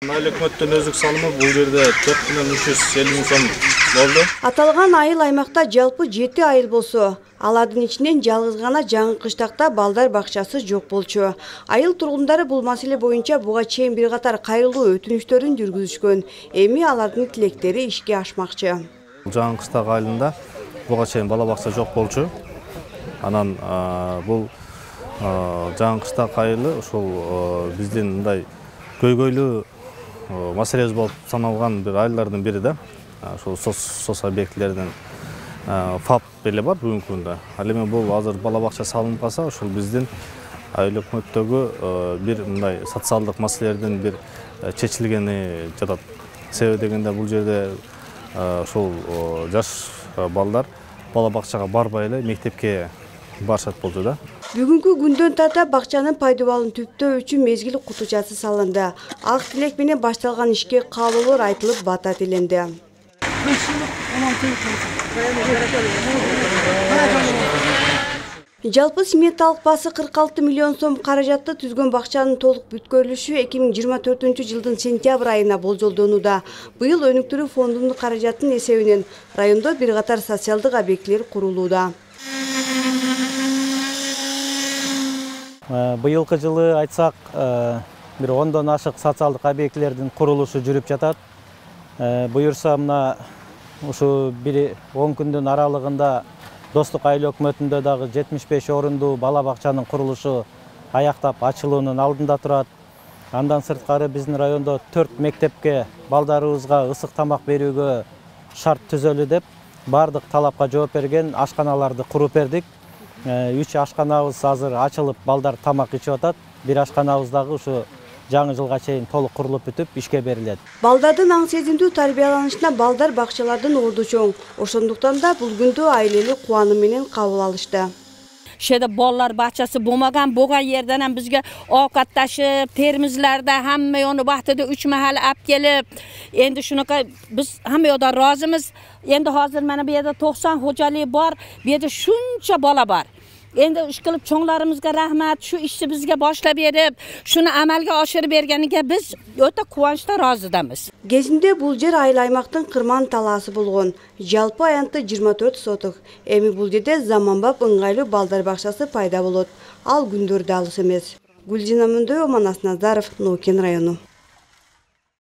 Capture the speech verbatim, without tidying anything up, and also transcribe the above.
Айыл өкмөттүн өздүк салымы бул жерде төрт миллион үч жүз элүү миң сом болду. Аталган айыл аймакта жалпы жети айыл болсо, алардын ичинен жалгыз гана жаңы кыштакта балдар бакчасы жок болчу. Айыл тургундары бул маселе боюнча буга чейин бир катар кайрылуу өтүнүштөрүн жүргүзүшкөн. Эми алардын тилектери ишке ашмакчы. Жаңы кыштак айылында буга чейин бала бакча жок болчу. Анан бул жаңы кыштак айылы ушул биздин мындай көйгөйлүү маселебиз болуп саналган бир айылдардын бири да. Ушул сос объектилеринин ФАП эле бар бүгүнкү күндө. Ал эми бул азыр бала бакча салынып калса, ушул биздин айыл өкмөттөгү бир мындай социалдык маселелердин бир чечилгени жатат. Себеби дегенде бул жерде ушул жаш балдар бала бакчага барбай эле мектепке барышат болчу да. Бүгүнкү күндөн тарта бакчанын пайдалануулун түптөө үчүн мезгил кутучасы салынды. Ак тилек менен башталган ишке каалоолор айтылып, бата тиленди. Жалпы сметалык баасы кырк алты миллион сом каражатты түзгөн бакчанын толук бүткөрүлүшү эки миң жыйырма төртүнчү жылдын сентябрь айына болжолдонууда. Быйыл өнүктүрүү фондунун каражатынын эсебинен райондо бир катар социалдык объектилер курулууда. Быйылкы жылы айтсак, бир ондон ашык социалдык объектилердин курулушу жүрүп жатат. Буюрса мына ушу бир он күндүн аралыгында Достук айыл өкмөтүндө дагы жетимиш беш орундуу бала бакчанын курулушу аяктап ачылуунун алдында турат. Андан сырткары биздин райондо төрт мектепке балдарыбызга ысык тамак берүүгө шарт түзөлү деп бардык талапка жооп берген ашканаларды куруп бердик. үч ашканабыз азыр ачылып, балдар тамак ичип атат. Бир ашканабыз дагы ушу жаңы жылга чейин толук курулуп бүтүп ишке берилет. Балдардын аң сезимдүү тарбияланышына балдар бакчалардын орду чоң. Ошондуктан да бул күндө айыл эли кубануу менен кабыл алышты. Шеде балдар бакчасы болмаган, буга жерден ham бизге овкатташып, термизлерде hamma onu vaqtida üç mahal alib kelib, endi shunaqa biz hamma yoqda rozimiz. Endi hozir mana bu yerda to'qson xo'jalik bor, bu yerda shuncha bola bor. Endi ish qilib cho'nglarimizga rahmat, shu ishni bizga boshlab berib, shuni amalga oshirib berganiga biz o'ta quvonchda rozidamiz. Кезинде бул жер айыл аймактын кырман талаасы болгон. Жалпы аянты жыйырма төрт соток. Эми бул жерде заманбап ыңгайлуу балдар бакчасы пайда болот. Ал күндөрдө алыс эмес. Гүлжина Мөндөөбү, Манас Назаров, Ноокен району.